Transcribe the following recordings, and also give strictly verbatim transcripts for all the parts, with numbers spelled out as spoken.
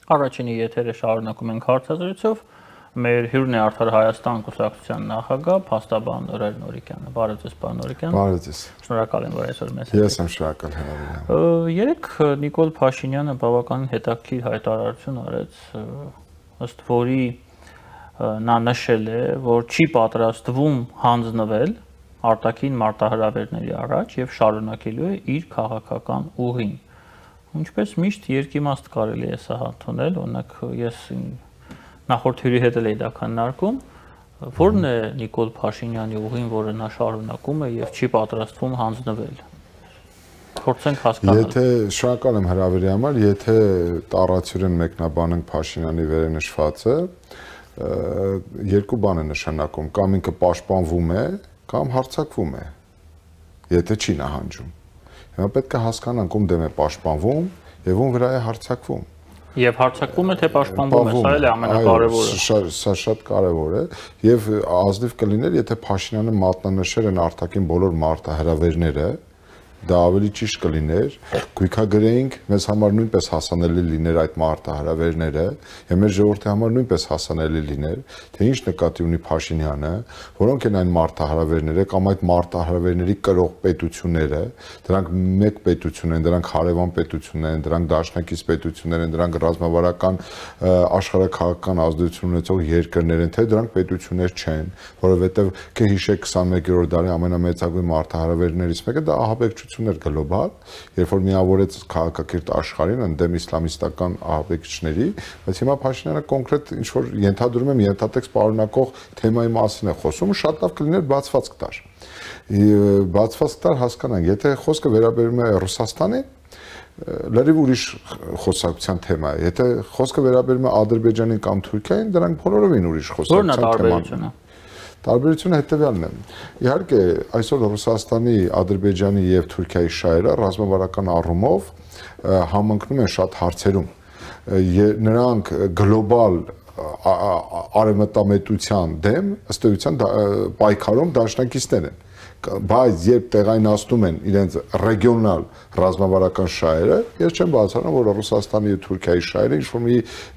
Առաջինի եթերը շարունակում ենք հարցազրույցով, մեր հյուրն է Արդար Հայաստան կուսակցության նախագահ, փաստաբան Ռեր Նորիկյանը։ Բարև ձեզ, պարոն Նորիկյան։ Բարև ձեզ։ Շնորհակալ եմ, որ այսօր մեզ Ես եմ շնորհակալ հրավերին։ Երեք Նիկոլ Փաշինյանը բավականին հետաքրքիր հայտարարություն արեց, ըստ որի նա նշել է, որ չի պատրաստվում հանձնվել արտաքին մարտահրավերների առաջ եւ շարունակելու է իր քաղաքական ուղին։ Ինչպես միշտ երկիմաստ կարելի է սա հանդիպել, օրինակ ես նախորդ հյուրի հետ էլ էի դա քննարկում, որն է Նիկոլ Փաշինյանի ուղին, որը նա շարունակում է եւ չի պատրաստվում հանձնվել։ Փորձենք հասկանալ։ Եթե շնորհակալ եմ հրավերի համար, եթե տառացիորեն մեկնաբանենք Փաշինյանի վերենշվածը, երկու բան է նշանակում, կամ ինքը պաշտպանվում է, կամ հարձակվում է, եթե չի նահանջում։ Հիմա պետք է հասկանանք ում դեմ է պաշտպանվում եւ ում վրա է հարձակվում։ Եվ հարձակվում է թե պաշտպանվում է, սա էլ է ամենակարևորը։ Սա շատ կարևոր է եւ ազնիվ կլիներ, եթե Փաշինյանը մատնանշեր են արտաքին բոլոր մարտահրավերները, դա ավելի ճիշտ կլիներ, գույքագրեինք, մեզ համար նույնպես հասանելի լիներ այդ մարտահրավերները, եւ մեր ժողովրդի համար նույնպես հասանելի լիներ, թե ինչ նկատի ունի Փաշինյանը, որոնք են այն մարտահրավերները կամ այդ մարտահրավերների կրող պետությունները, դրանք մեկ պետություն են, դրանք հարևան պետություններ են, դրանք դաշնակից պետություններ են, դրանք ռազմավարական աշխարհաքաղաքական ազդեցություն ունեցող երկրներ են, թե դրանք պետություններ չեն, որովհետեւ կհիշեք քսաներկերորդ դարի ամենամեծագույն մարտահրավերներից մեկը դա ահաբեկչություններ գլոբալ, երբ որ միավորեց քաղաքակիրթ աշխարհին ընդդեմ իսլամիստական ահաբեկիչների, բայց հիմա Փաշինյանը կոնկրետ ինչ որ ենթադրում եմ ենթատեքստ պարունակող թեմայի մասին է խոսում, շատ լավ կլիներ բացվածք տար։ Բացվածք տար հասկանանք, եթե խոսքը վերաբերում է Ռուսաստանի, լրիվ ուրիշ խոսակցության թեմա է, եթե խոսքը վերաբերում է Ադրբեջանին կամ Թուրքիային, դրանք բոլորովին ուրիշ խոսակցության թեման են։ Տարբերությունը հետևյալն է։ Իհարկե, այսօր Ռուսաստանի, Ադրբեջանի եւ Թուրքիայի շահերը ռազմավարական առումով համընկնում են շատ հարցերում։ Նրանք գլոբալ արևմտամետության դեմ ըստ էության պայքարում դաշնակիցներ են, բայց երբ տեղայնացնում են իրենց ռեգիոնալ ռազմավարական շահերը, ես չեմ բացառում, որ Ռուսաստանի եւ Թուրքիայի շահերը ինչ-որ մի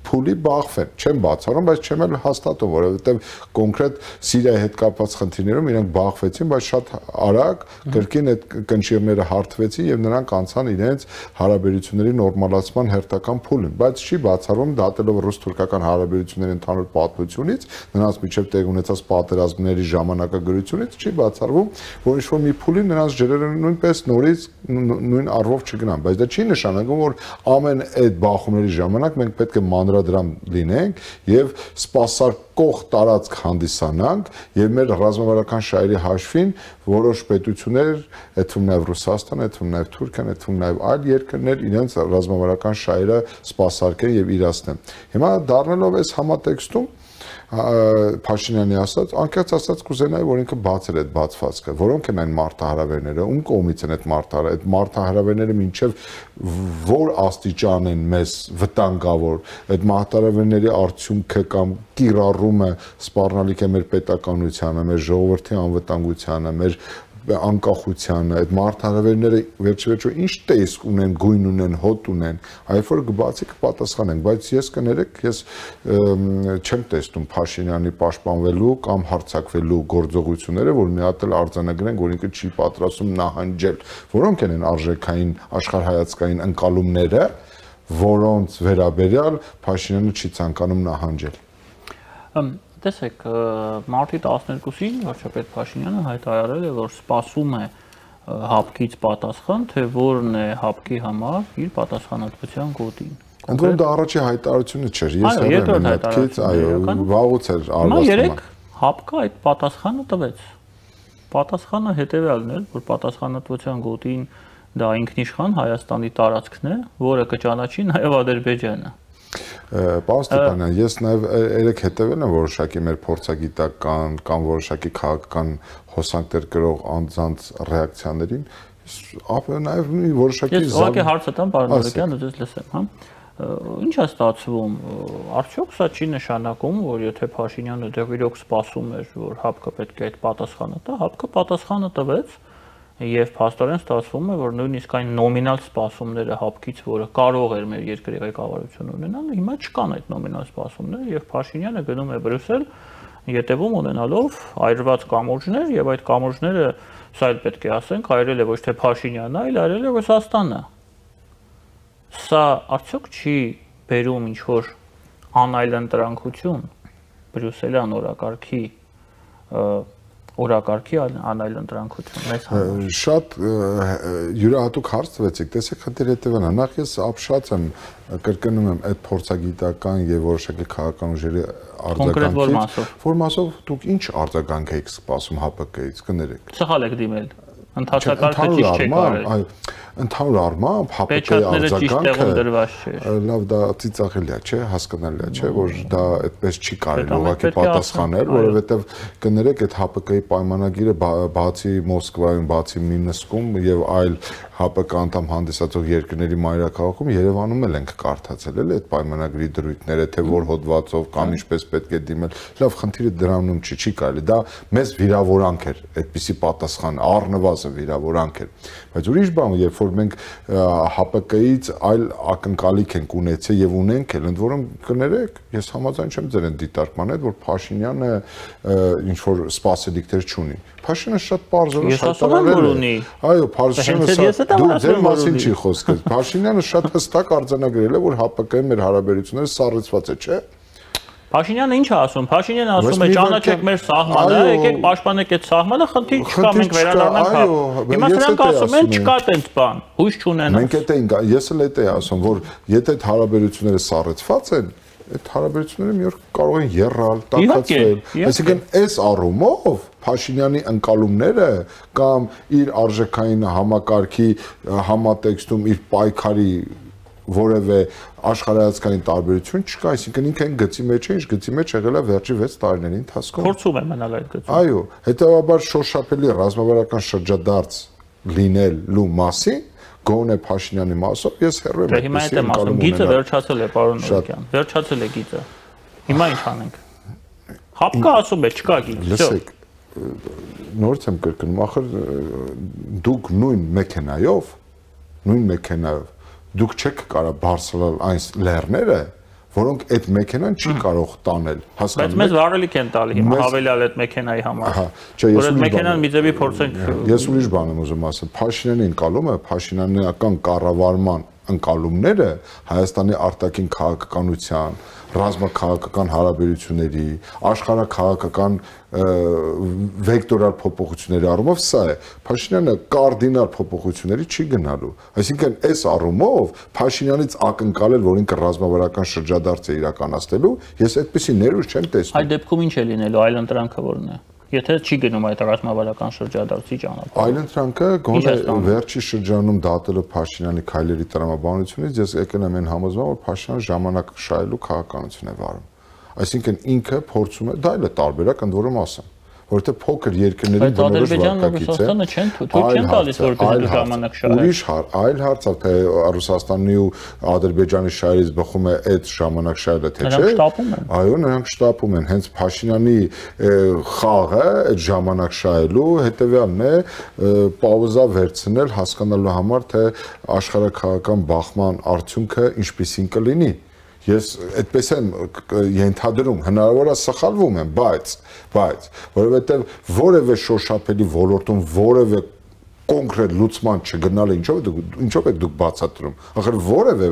փուլի բախվեն, չեմ բացառում, բայց չեմ էլ հաստատում, որովհետեւ կոնկրետ Սիրիայի հետ կապված խնդիրներում իրենք բախվեցին, բայց շատ արագ կրկին այդ կնճիռները հարթվեցին եւ նրանք անցան իրենց հարաբերությունների նորմալացման հերթական փուլին, բայց չի բացառում դատելով ռուս-թուրքական հարաբերությունների ընդհանուր պատմությունից, նրանց միջև տեղ ունեցած պատերազմների ժամանակագրությունից չի բացառվում, որ ինչ-որ մի փուլի նրանց ջրերը նույնպես նորից նույն առվով չգնան, բայց դա չի նշանակում, որ ամեն այդ բախումների ժամանակ մենք պետք է մանրադրամ լինենք եւ սպասարկող տարածք հանդիսանանք եւ մեր ռազմավարական շահերի հաշվին որոշ պետություններ, այդ թվում նաեւ Ռուսաստանը, այդ թվում նաեւ Թուրքիան, այդ թվում նաեւ այլ երկրներ իրենց ռազմավարական շահերը սպասարկեն եւ իրացնեն։ Հիմա դառնալով այս համատեքստում Փաշինյանի ասած, անկեղծ ասած կուզենայի, որ ինքը բացեր այդ բացվածքը, որոնք են այն մարտահրավերները, ում կողմից են այդ մարտահրավերները, այդ մարտահրավերները մինչև որ աստիճան են մեզ վտանգավոր, այդ մարտահրավերների արդյունքը կամ կիրառումը սպառնալիք է մեր պետականությանը, մեր ժողովրդի անվտանգությանը, մեր անկախությանը, այդ մարտահրավերները վերջիվերջո ինչ տեսք ունեն, գույն ունեն, հոտ ունեն, այլ որ կբացի կպատասխանենք, բայց ես կներեք, ես չեմ տեսնում Փաշինյանի պաշտպանվելու կամ հարձակվելու գործողությունները, որ մի հատ էլ արձանագրենք, որ ինքը չի պատրաստում նահանջել, որոնք են արժեքային աշխարհայացքային ընկալումները, որոնց վերաբերյալ Փաշինյանը չի ցանկանում նահանջել։ Տեսեք, մարտի տասներկուսին վարչապետ Փաշինյանը հայտարարել է, որ սպասում է հապկից պատասխան, թե որն է հապկի համար իր պատասխանատվության գոտին։ Ընդհանուր դա առաջի հայտարարությունը չէր, ես հեռու եմ մտքից, այո, վաղուց էր արվաստումը։ Երեք հապկը այդ պատասխանը տվեց։ Պատասխանը հետևյալն էր, որ պատասխանատվության գոտին դա ինքնիշխան Հայաստանի տարածքն է, որը կճանաչի նաև Ադրբեջանը։ Պարոն Ստեփանյան, ես նաև երեք հետևել եմ որոշակի մեր փորձագիտական կամ որոշակի քաղաքական հոսանքներ կրող անձանց ռեակցիաներին, նաև մի որոշակի Ես ուղղակի հարցը տամ, պարոն Նորիկյան, ու ձեզ լսեմ, հա։ Ինչ է ստացվում, արդյոք սա չի նշանակում, որ եթե Փաշինյանը դեռ իրոք սպասում էր, որ հապկը պետք է այդ պատասխանը տա, հապկը պատասխանը տվեց, եւ փաստորեն ստացվում է, որ նույնիսկ այն նոմինալ սպասումները հապկից, որը կարող էր մեր երկրի ղեկավարությունը ունենալ, հիմա չկան այդ նոմինալ սպասումները եւ Փաշինյանը գնում է Բրյուսել յետևում ունենալով այրված կամուրջներ եւ այդ կամուրջները սա էլ պետք է ասենք, այրել է ոչ թե Փաշինյանը, այլ այրել է Ռուսաստանը։ Սա արդյոք չի բերում ինչ որ անայլընտրանքություն Բրյուսելյան օրակարգի օրակարգի անայլընտրանքություն մեզ համար։ Շատ յուրահատուկ հարց տվեցիք, տեսեք խնդիրը հետևն է, նախ ես ապշած եմ, կրկնում եմ այդ փորձագիտական եւ որոշակի քաղաքական ուժերի արձագանքից, որ մասով դուք ինչ արձագանք եք սպասում ՀԱՊԿ-ից, կներեք։ Սխալ եք դիմել։ Ընթացակարգը ճիշտ չեք արել։ Ընդհանուր առմամբ ՀԱՊԿ-ի արձագանքը լավ դա ծիծաղելի է, չէ, հասկանալի է, չէ, որ դա այդպես չի կարելի ուղղակի պատասխանել, որովհետև կներեք այդ ՀԱՊԿ-ի պայմանագիրը բացի Մոսկվայում, բացի Մինսկում եւ այլ ՀԱՊԿ անդամ հանդիսացող երկրների մայրաքաղաքում Երևանում էլ ենք կարդացել էլ այդ պայմանագրի դրույթները, թե որ հոդվածով կամ ինչպես պետք է դիմել։ Լավ, խնդիրը դրանում չի, չի կարելի, դա մեզ վիրավորանք էր, այդպիսի պատասխան առնվազն վիրավորանք էր։ Բայց ուրիշ բան, երբ որ մենք ՀԱՊԿ-ից այլ ակնկալիք ենք ունեցել եւ ունենք էլ, ընդ որում կներեք, ես համաձայն չեմ ձեր դիտարկման հետ, որ Փաշինյանը ինչ որ սպասելիքներ չունի։ Փաշինյանը շատ պարզորոշ հայտարարել է։ Այո, Փաշինյանը դու ձեր մասին չի խոսքը։ Փաշինյանը շատ հստակ արձանագրել է, որ ՀԱՊԿ-ի մեր հարաբերությունները սառեցված է, չէ՞։ Փաշինյանը ինչ է ասում։ Փաշինյանը ասում է ճանաչեք մեր սահմանը, եկեք պաշտպանեք այդ սահմանը, խնդիր չկա, մենք վերադառնանք։ Հիմա նրանք ասում են չկա տենց բան, հույս չունեն։ Մենք էդ էինք, ես էլ էդ էի ասում, որ եթե այդ հարաբերությունները սառեցված են, այդ հարաբերությունները մի օր կարող են եռալ, տաքացվել։ Այսինքն այս առումով Փաշինյանի ընկալումները կամ իր արժեքային համակարգի համատեքստում իր պայքարի որևէ աշխարհայացքային տարբերություն չկա, այսինքն ինքը այն գծի մեջ է, ինչ գծի մեջ եղել է վերջի վեց տարիների ընթացքում։ Փորձում է մնալ այդ գծում։ Այո, հետեւաբար շոշափելի ռազմավարական շրջադարձ լինելու մասին գոնե Փաշինյանի մասով ես հեռու եմ։ Հիմա այդ եմ ասում, գիծը վերջացել է, պարոն Նորիկյան, վերջացել է գիծը։ Հիմա ինչ անենք։ ՀԱՊԿ-ը ասում է, չկա գիծ։ Լսեք, նորից եմ կրկնում, ախր դուք նույն մեքենայով, նույն մեքենայով դուք չեք կարող բարձրալ այն լեռները, որոնք այդ մեքենան չի կարող տանել, հասկանու՞մ եք։ Բայց մեզ վարելիք են տալի հիմա հավելյալ այդ մեքենայի համար։ Որ այդ մեքենան մի ձևի փորձենք։ Ես ուրիշ բան եմ ուզում ասել, Փաշինյանի ընկալումը, Փաշինյանական կառավարման ընկալումները Հայաստանի արտաքին քաղաքականության, ռազմաքաղաքական հարաբերությունների, աշխարհաքաղաքական վեկտորալ փոփոխությունների առումով սա է։ Փաշինյանը կարդինալ փոփոխությունների չի գնալու։ Այսինքն այս առումով Փաշինյանից ակնկալել, որ ինքը ռազմավարական շրջադարձ է իրականացնելու, ես այդպիսի ներուժ չեմ տեսնում։ Այդ դեպքում ինչ է լինելու, այլ ընտրանքը որն է։ Եթե չի գնում այդ ռազմավարական շրջադարձի ճանապարհը։ Այլ ընտրանքը գոնե վերջի շրջանում դատելով Փաշինյանի քայլերի տրամաբանությունից ես եկել եմ այն համոզման, որ Փաշինյանը ժամանակ շահելու քաղաքականություն է վարում։ Այսինքն ինքը փորձում է, դա էլ է տարբերակ, ընդ որում ասեմ, որովհետեւ փոքր երկրների բնորոշ վարկակից է։ Ադրբեջանը չեն թույլ չեն տալիս որպես ժամանակ շահել։ Ուրիշ այլ հարց է, թե Ռուսաստանի ու Ադրբեջանի շահերից բխում է այդ ժամանակ շահելը, թե չէ։ Նրանք շտապում են։ Այո, նրանք շտապում են։ Հենց Փաշինյանի խաղը այդ ժամանակ շահելու հետևյալն է, պաուզա վերցնել հասկանալու համար, թե աշխարհաքաղաքական բախման արդյունքը ինչպիսին կլինի։ Ես այդպես եմ ենթադրում, հնարավոր է սխալվում եմ, բայց, բայց, որովհետև որևէ շոշափելի ոլորտում որևէ կոնկրետ լուծման չգնալը ինչով է ինչով եք դուք բացատրում։ Ախր որևէ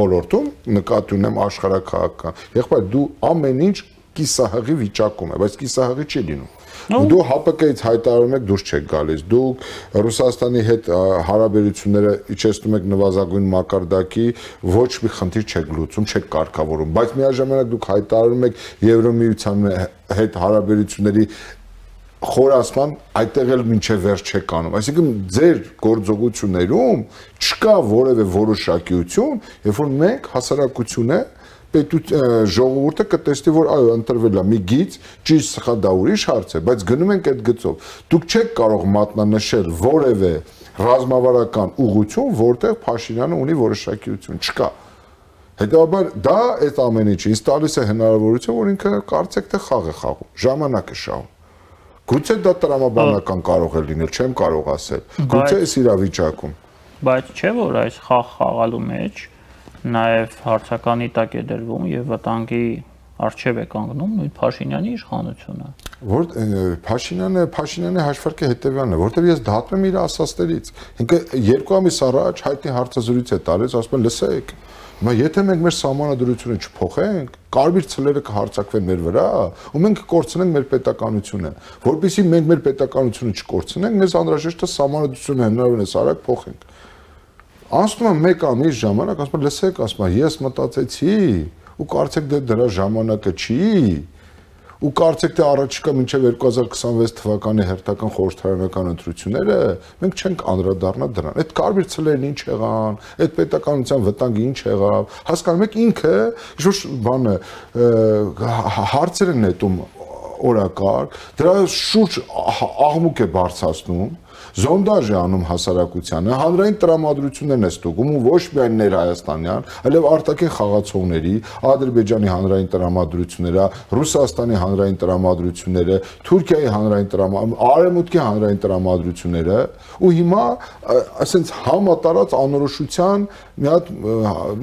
ոլորտում նկատի ունեմ աշխարհաքաղաքական, եղբայր դու ամեն ինչ կիսահղի վիճակում է, բայց կիսահղի չի լինում։ Դու ՀԱՊԿ-ից հայտարարում եք դուրս չեք գալիս, դուք Ռուսաստանի հետ հարաբերությունները իջեցնում եք նվազագույն մակարդակի, ոչ մի խնդիր չեք լուծում, չեք կարգավորում, բայց միաժամանակ դուք հայտարարում եք Եվրոմիության հետ հարաբերությունների խորացման, այդտեղ էլ մինչև վերջ չեք անում։ Այսինքն ձեր գործողություններում չկա որևէ որոշակիություն, երբ որ մենք հասարակություն է ժողովուրդը կտեսնի, որ այո, ընտրվել է մի գիծ, ճիշտ սխալ դա ուրիշ հարց է, բայց գնում ենք այդ գծով։ Դուք չեք կարող մատնանշել որևէ ռազմավարական ուղղություն, որտեղ Փաշինյանը ունի որոշակիություն, չկա։ Հետևաբար դա այդ ամեն ինչը ինձ տալիս է հնարավորություն, որ ինքը կարծեք թե խաղ է խաղում, ժամանակ է շահում։ Գուցե դա տրամաբանական կարող է լինել, չեմ կարող ասել։ Գուցե այս իրավիճակում։ Բայց չէ՞ որ այս խաղ խաղալու մեջ նաև հարցականի տակ է դրվում եւ վտանգի արժեվ է կանգնում նույն Փաշինյանի իշխանությունը։ Որ Փաշինյանը Փաշինյանի հաշվարկը հետեւյալն է, որտեղ ես դատում եմ իր ասածներից։ Ինքը երկու ամիս առաջ հայտնի հարցազրույց է տալիս, ասում են լսեք, հիմա եթե մենք մեր սահմանադրությունը չփոխենք, կարմիր ցլերը կհարցակվեն մեր վրա, ու մենք կկորցնենք մեր պետականությունը։ Որպեսզի մենք մեր պետականությունը չկորցնենք, մեզ անհրաժեշտ է սահմանադրությունը հնարավորինս արագ փոխենք։ Անցնում է մեկ ամիս ժամանակ, ասում եմ լսեք, ասում եմ ես մտածեցի ու կարծեք դե դրա ժամանակը չի ու կարծեք թե առաջիկա մինչև երկու հազար քսանվեց թվականի հերթական խորհրդարանական ընտրությունները մենք չենք անդրադառնա դրան։ Այդ կարմիր ցլերն ինչ եղան, այդ պետականության վտանգը ինչ եղավ, հասկանում եք ինքը ինչ-որ բանը հարցեր են նետում օրակարգ, դրա շուրջ աղմուկ է բարձրացնում, զոնդաժ է անում հասարակությանը, հանրային տրամադրություններն է ստուգում ու ոչ միայն ներհայաստանյան, այլև արտաքին խաղացողների, Ադրբեջանի հանրային տրամադրությունները, Ռուսաստանի հանրային տրամադրությունները, Թուրքիայի հանրային տրամադրությունները, Արևմուտքի հանրային տրամադրությունները ու հիմա ասենց համատարած անորոշության մի հատ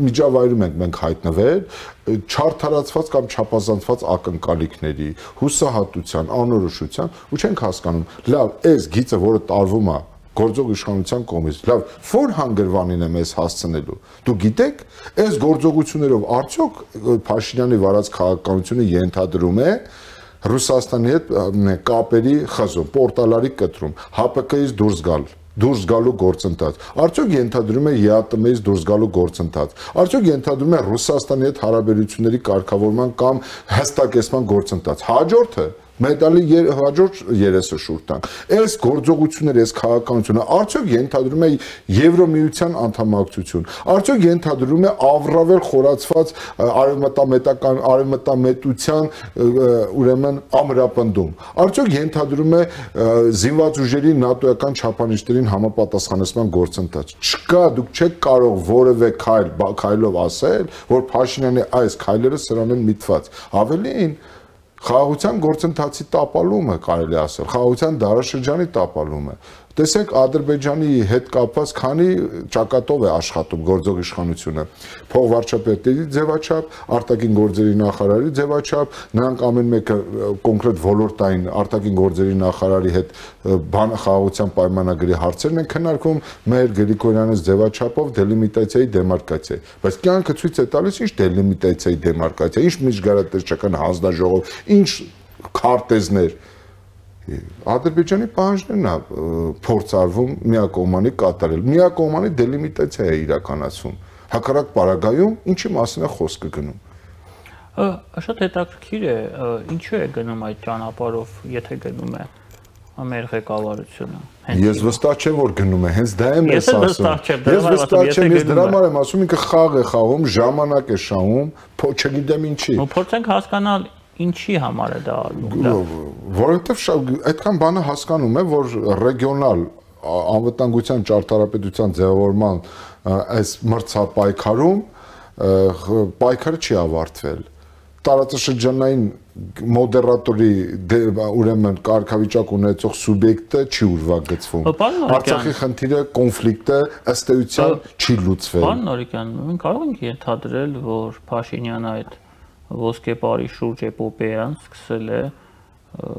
միջավայրում ենք մենք հայտնվել չարթարացված կամ չափազանցված ակնկալիքների, հուսահատության, անորոշության ու չենք հասկանում, լավ, այս գիծը, որը տարվում է գործող իշխանության կողմից, լավ, որ հանգրվանին է մեզ հասցնելու։ Դու գիտեք, այս գործողություններով արդյոք Փաշինյանի վարած քաղաքականությունը ենթադրում է Ռուսաստանի հետ կապերի խզում, պորտալարի կտրում, ՀԱՊԿ-ից դուրս գալ դուրս գալու գործընթաց։ Արդյոք ենթադրում է ԵԱՏՄ-ից դուրս գալու գործընթաց։ Արդյոք ենթադրում է Ռուսաստանի հետ հարաբերությունների կարգավորման կամ հստակեցման գործընթաց։ Հաջորդը մեդալի հաջորդ երեսը շուրջ տանք։ Այս գործողությունները, այս քաղաքականությունը արդյոք ենթադրում է Եվրոմիության անդամակցություն։ Արդյոք ենթադրում է ավրավել խորացված արևմտամետական արևմտամետության ուրեմն ամրապնդում։ Արդյոք ենթադրում է զինված ուժերի նատոյական չափանիշներին համապատասխանեցման գործընթաց։ Չկա, դուք չեք կարող որևէ քայլ քայլով ասել, որ Փաշինյանի այս քայլերը սրան են միտված։ Ավելին խաղաղության գործընթացի տապալումը կարելի ասել, խաղաղության դարաշրջանի տապալումը։ Տեսեք Ադրբեջանի հետ կապված քանի ճակատով է աշխատում գործող իշխանությունը։ Փոխվարչապետերի ձևաչափ, արտաքին գործերի նախարարի ձևաչափ, նրանք ամեն մեկը կոնկրետ ոլորտային արտաքին գործերի նախարարի հետ բան խաղաղության պայմանագրի հարցերն են քննարկվում, մեր Գրիգորյանից ձևաչափով դելիմիտացիայի դեմարկացիա։ Բայց կյանքը ցույց է տալիս ինչ դելիմիտացիայի դեմարկացիա, ինչ միջգարատեսչական հանձնաժողով, ինչ քարտեզներ։ Ադրբեջանի պահանջներն է փորձարվում միակողմանի կատարել, միակողմանի դելիմիտացիա է իրականացվում, հակառակ պարագայում ինչի մասին է խոսքը գնում։ Շատ հետաքրքիր է, ինչու է գնում այդ ճանապարհով, եթե գնում է մեր ղեկավարությունը։ Ես վստահ չեմ, որ գնում է, հենց դա եմ ես ասում։ Ես վստահ չեմ, ես դրա համար եմ ասում, ինքը խաղ է խաղում, ժամանակ է շահում, չգիտեմ ինչի։ Ու փորձենք հասկանալ ինչի համար է դա արվում։ Որովհետև այդքան բանը հասկանում է, որ ռեգիոնալ անվտանգության ճարտարապետության ձևավորման այս մրցապայքարում պայքարը չի ավարտվել։ Տարածաշրջանային մոդերատորի ուրեմն կարգավիճակ ունեցող սուբյեկտը չի ուրվագծվում։ Արցախի խնդիրը, կոնֆլիկտը ըստ էության չի լուծվել։ Պարոն Նորիկյան, մենք կարող ենք ենթադրել, որ Փաշինյանը այդ ոսկեպարի շուրջ էպոպեան սկսել է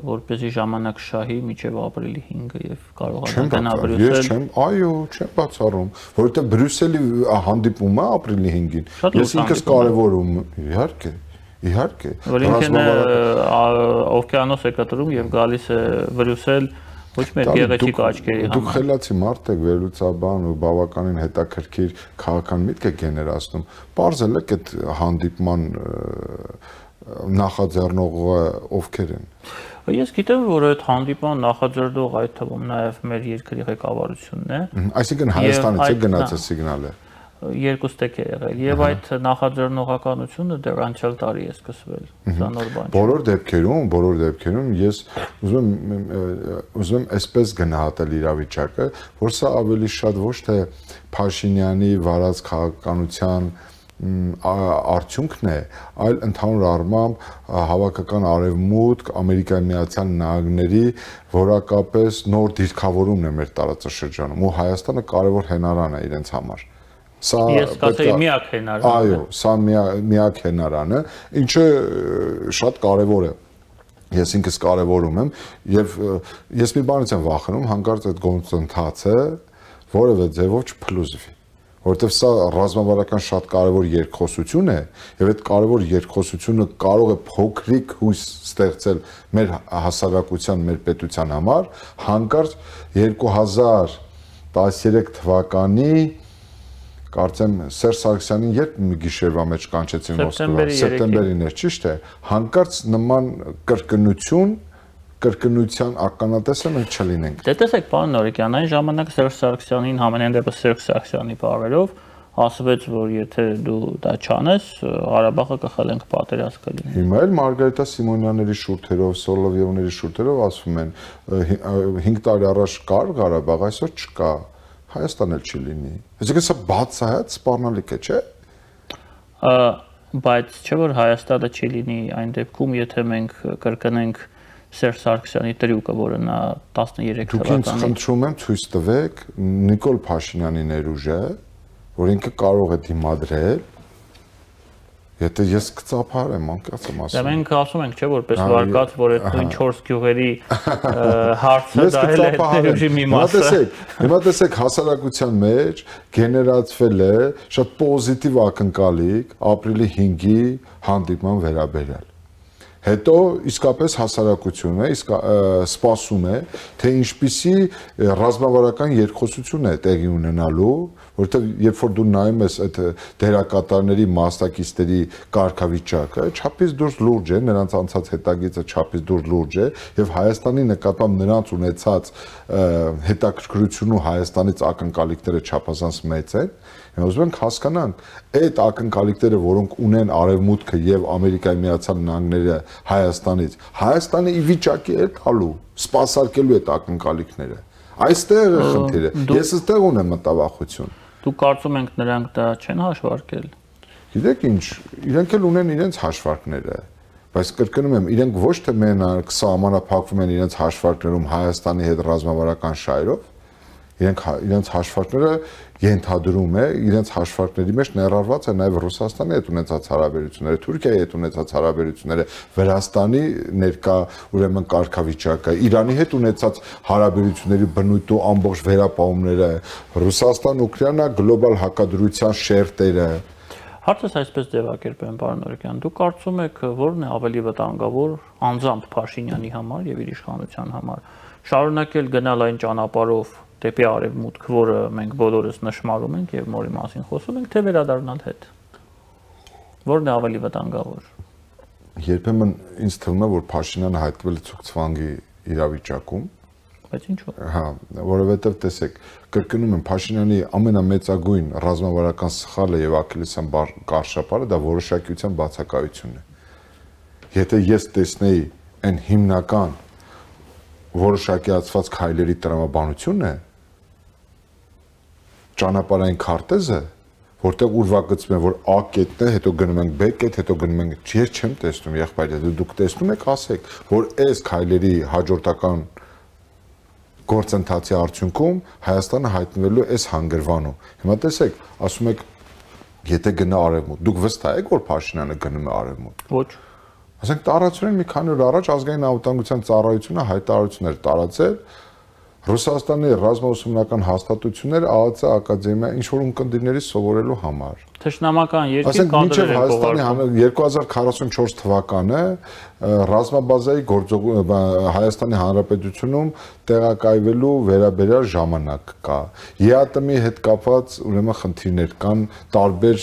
որպեսզի ժամանակ շահի մինչև ապրիլի հինգը եւ կարողանա գնա Բրյուսել։ Ես չեմ, այո, չեմ բացառում, որովհետեւ Բրյուսելի հանդիպումը ապրիլի հինգին։ Ես ինքս կարևորում, իհարկե, իհարկե։ Որինքն օվկիանոս է կտրում եւ գալիս է Բրյուսել ոչ մեր գեղեցիկ աչքերի համար։ Դուք խելացի մարդ եք, վերլուծաբան ու բավականին հետաքրքիր քաղաքական միտք եք գեներացնում։ Պարզել եք այդ հանդիպման նախաձեռնողը ովքեր են։ Ես գիտեմ, որ այդ հանդիպման նախաձեռնող այդ թվում նաև մեր երկրի ղեկավարությունն է։ Այսինքն Հայաստանից է գնացել սիգնալը։ Երկու ստեկ է եղել եւ այդ նախաձեռնողականությունը դեռ անցյալ տարի է սկսվել, սա նոր բան չէ։ Բոլոր դեպքերում, բոլոր դեպքերում ես ուզում եմ ուզում եմ այսպես գնահատել իրավիճակը, որ սա ավելի շատ ոչ թե Փաշինյանի վարած քաղաքականության արդյունքն է, այլ ընդհանուր առմամբ հավաքական արևմուտք, Ամերիկայի Միացյալ Նահանգների որակապես նոր դիրքավորումն է մեր տարածաշրջանում ու Հայաստանը կարևոր հենարան է իրենց համար։ Սա ես կասեի միակ հենարանը։ Այո, սա միակ հենարանը, ինչը շատ կարևոր է։ Ես ինքս կարևորում եմ եւ ես մի բանից եմ վախենում, հանկարծ այդ գործընթացը որևէ ձևով չփլուզվի, որովհետեւ սա ռազմավարական շատ կարևոր երկխոսություն է եւ այդ կարևոր երկխոսությունը կարող է փոքրիկ հույս ստեղծել մեր հասարակության, մեր պետության համար, հանկարծ երկու հազար տասներեք թվականի կարծեմ Սերժ Սարգսյանին երբ մի գիշերվա մեջ կանչեցին Մոսկվա, սեպտեմբերին էր, ճիշտ է, հանկարծ նման կրկնություն, կրկնության ականատեսը մենք չլինենք։ Դե տեսեք, պարոն Նորիկյան, այն ժամանակ Սերժ Սարգսյանին համենայն դեպս Սերժ Սարգսյանի բառերով ասվեց, որ եթե դու դա չանես, Ղարաբաղը կխլենք, պատերազմ կլինի։ Հիմա էլ Մարգարիտա Սիմոնյանների շուրթերով, Սոլովյովների շուրթերով ասվում են հինգ տարի առաջ կար Ղարաբաղ, այսօր չկա։ Հայաստան էլ չի լինի։ Այսինքն սա բացահայտ սպառնալիք է, չէ՞։ Բայց չէ՞ որ Հայաստանը չի լինի այն դեպքում, եթե մենք կրկնենք Սերժ Սարգսյանի տրյուկը, որը նա տասներեք թվականին։ Դուք ինձ խնդրում եմ ցույց տվեք Նիկոլ Փաշինյանի ներուժը, որ ինքը կարող է դիմադրել։ Եթե ես կծափարեմ, անկացեմ ասում։ Դե մենք ասում ենք, չէ՞ որպես վարկած, որ այդ նույն չորս գյուղերի հարցը դա էլ է ներուժի մի մասը։ Հիմա տեսեք, հիմա տեսեք հասարակության մեջ գեներացվել է շատ պոզիտիվ ակնկալիք ապրիլի հինգի հանդիպման վերաբերյալ։ Հետո իսկապես հասարակությունը իսկ սպասում է, թե ինչպիսի ռազմավարական երկխոսություն է տեղի ունենալու, որովհետև երբ որ դու նայում ես այդ դերակատարների մասնակիցների կարգավիճակը, չափից դուրս լուրջ է, նրանց անցած հետագիծը չափից դուրս լուրջ է, եւ Հայաստանի նկատմամբ նրանց ունեցած հետաքրքրությունն ու Հայաստանից ակնկալիքները չափազանց մեծ են։ Մենք ուզում ենք հասկանանք այդ ակնկալիքները, որոնք ունեն Արևմուտքը եւ Ամերիկայի Միացյալ Նահանգները Հայաստանից, Հայաստանը ի վիճակի է տալու, սպասարկելու այդ ակնկալիքները։ Այստեղ է խնդիրը։ Ես այստեղ ունեմ մտավախություն։ Դու կարծում եք նրանք դա չեն հաշվարկել։ Գիտեք ինչ, իրենք էլ ունեն իրենց հաշվարկները, բայց կրկնում եմ, իրենք ոչ թե մենակ սահմանափակվում են իրենց հաշվարկներում Հայաստանի հետ ռազմավարական շահերով, իրենք իրենց հաշվարկները ենթադրում է, իրենց հաշվարկների մեջ ներառված է նաև Ռուսաստանի հետ ունեցած հարաբերությունները, Թուրքիայի հետ ունեցած հարաբերությունները, Վրաստանի ներկա ուրեմն կարգավիճակը, Իրանի հետ ունեցած հարաբերությունների բնույթ ու ամբողջ վերապահումները, Ռուսաստան-Ուկրաինա գլոբալ հակադրության շերտերը։ Հարցս այսպես ձևակերպեմ, պարոն Նորիկյան, դուք կարծում եք, որն է ավելի վտանգավոր անձամբ Փաշինյանի համար եւ իր իշխանության համար, շարունակել գնալ այն ճանապարհով դեպի արևմուտք, որը մենք բոլորս նշмарում ենք եւ որի մասին խոսում ենք, թե վերադառնալ հետ։ Որն է ավելի վտանգավոր։ Երբեմն ինձ թվում է, որ Փաշինյանը հայտնվել է ցուցվանգի իրավիճակում, բայց ինչու՞։ Հա, որովհետեւ տեսեք, կրկնում եմ, Փաշինյանի ամենամեծագույն ռազմավարական սխալը եւ աքիլեսյան կարշապարը դա որոշակիության բացակայությունն է։ Եթե ես տեսնեի այն հիմնական որոշակիացված քայլերի տրամաբանությունն է, ճանապարհային քարտեզը, որտեղ ուրվագծում են, որ A կետն է, հետո գնում ենք B կետ, հետո գնում ենք, ես չեմ տեսնում, եղբայր, դուք տեսնում եք, ասեք, որ այս քայլերի հաջորդական գործընթացի արդյունքում Հայաստանը հայտնվելու է այս հանգրվանում։ Հիմա տեսեք, ասում եք, եթե գնա արևմուտք, դուք վստահ եք, որ Փաշինյանը գնում է արևմուտք։ Ոչ։ Ասենք տարածորեն մի քանի օր առաջ ազգային անվտանգության ծառայությունը հայտարարություն էր տարածել Ռուսաստանի ռազմաուսումնական հաստատություններ ԱԱՑ ակադեմիա ինչ որ ունկնդիրների սովորելու համար։ Թշնամական երկիր կադրեր են կողարկում։ երկու հազար քառասունչորս թվականը ռազմաբազայի գործող Հայաստանի Հանրապետությունում տեղակայվելու վերաբերյալ ժամանակ կա։ ԵԱՏՄ-ի հետ կապված ուրեմն խնդիրներ կան, տարբեր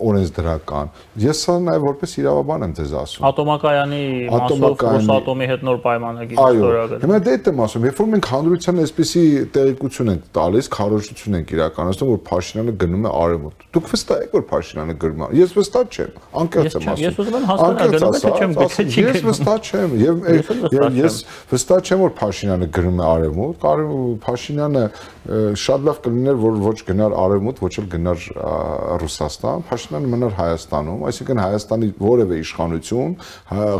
օրենսդրական։ Ես սա նաև որպես իրավաբան եմ ձեզ ասում։ Ատոմակայանի մասով Ռոսատոմի հետ նոր պայմանագիր ստորագրել։ Հիմա դե դա եմ ասում, երբ որ մենք հանրության այսպիսի տեղեկություն ենք տալիս, քարոզություն ենք իրականացնում, որ Փաշինյանը գնում է արևմուտք։ Դուք վստահ եք, որ Փաշինյանը գրում է։ Ես վստահ չեմ, անկեղծ եմ ասում։ Ես ուզում եմ հասկանալ, գնում է թե չեմ գտել։ Ես վստահ չեմ եւ ես վստահ չեմ, որ Փաշինյանը գրում է արևմուտք, Փաշինյանը շատ լավ կլիներ, որ ոչ գնար արևմուտք, ոչ էլ գնար Ռուսաստան, Փաշինյանը մնար Հայաստանում, այսինքն Հայաստանի որևէ իշխանություն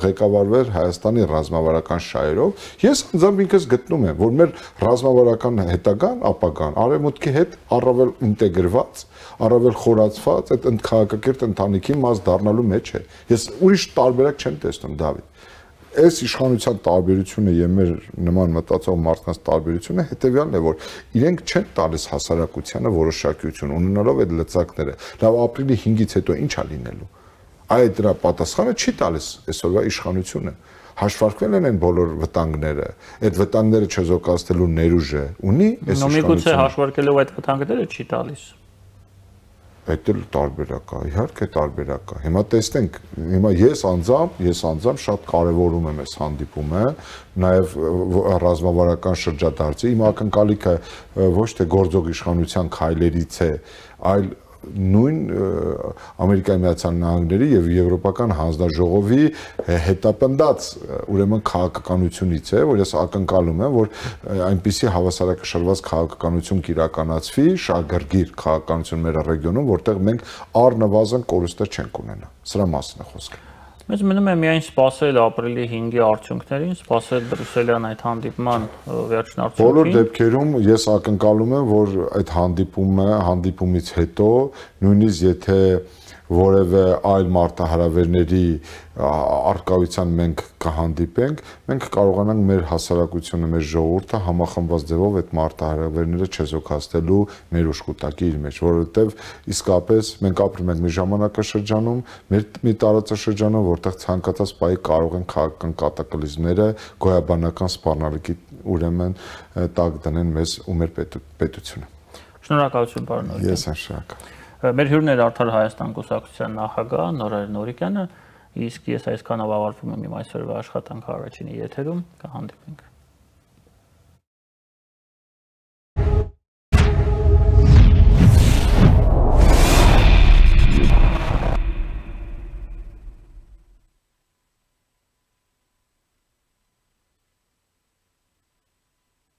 ղեկավարվեր Հայաստանի ռազմավարական շահերով։ Ես անձամբ ինքս գտնում եմ, որ մեր ռազմավարական հետագան, ապագան արևմուտքի հետ առավել ինտեգրված, առավել խորացված այդ քաղաքակիրթ ընտանիքի մաս դառնալու մեջ է։ Ես ուրիշ տարբերակ չեմ տեսնում, Դավիթ։ Այս իշխանության տարբերությունը եւ մեր նման մտածող մարդկանց տարբերությունը հետեւյալն է, որ իրենք չեն տալիս հասարակությանը որոշակիություն ունենալով այդ լծակները։ Լավ, ապրիլի հինգից հետո ի՞նչ է լինելու։ Այդ դրա պատասխանը չի տալիս այսօրվա իշխանությունը։ Հաշվարկվել են այն բոլոր վտանգները, այդ վտանգները չեզոքացնելու ներուժը ունի այս իշխանությունը։ Նոմիկուցե հաշվարկելով այդ վտանգները չի տալիս։ Այդ էլ տարբերակ է, իհարկե տարբերակ է։ Հիմա տեսնենք, հիմա ես անձամբ, ես անձամբ շատ կարևորում եմ այս հանդիպումը, նաև ռազմավարական շրջադարձի, իմ ակնկալիքը ոչ թե գործող իշխանության քայլերից է, այլ նույն Ամերիկայի Միացյալ Նահանգների եւ Եվրոպական հանձնաժողովի հետապնդած ուրեմն քաղաքականությունից է, որ ես ակնկալում եմ, որ այնպիսի հավասարակշռված քաղաքականություն կիրականացվի, շահգրգիր քաղաքականություն մեր ռեգիոնում, որտեղ մենք առնվազն կորուստներ չենք ունենա։ Սրա մասին է խոսքը։ Մեզ մնում է միայն սպասել ապրիլի հինգի արդյունքներին, սպասել բրյուսելյան այդ հանդիպման վերջնարդյունքին։ Բոլոր դեպքերում ես ակնկալում եմ, որ այդ հանդիպումը, հանդիպումից հետո, նույնիսկ եթե որևէ այլ մարտահրավերների արկայության մենք կհանդիպենք, մենք կարողանանք մեր հասարակությունը, մեր ժողովուրդը համախմբված ձևով այդ մարտահրավերները չեզոքացնելու մեր ուշքուտակի իր մեջ, որովհետև իսկապես մենք ապրում ենք մի ժամանակաշրջանում, մեր մի տարածաշրջանում, որտեղ ցանկացած պահի կարող են քաղաքական կատակլիզմները, գոյաբանական սպառնալիքի ուրեմն տակ դնեն մեզ ու մեր պետությունը։ Շնորհակալություն, պարոն Նորիկյան։ Ես եմ շնորհակալ։ Մեր հյուրն էր Արդար Հայաստան կուսակցության նախագահ Նորայր Նորիկյանը, իսկ ես այսքանով ավարտվում եմ իմ այսօրվա աշխատանքը առաջինի եթերում, կհանդիպենք։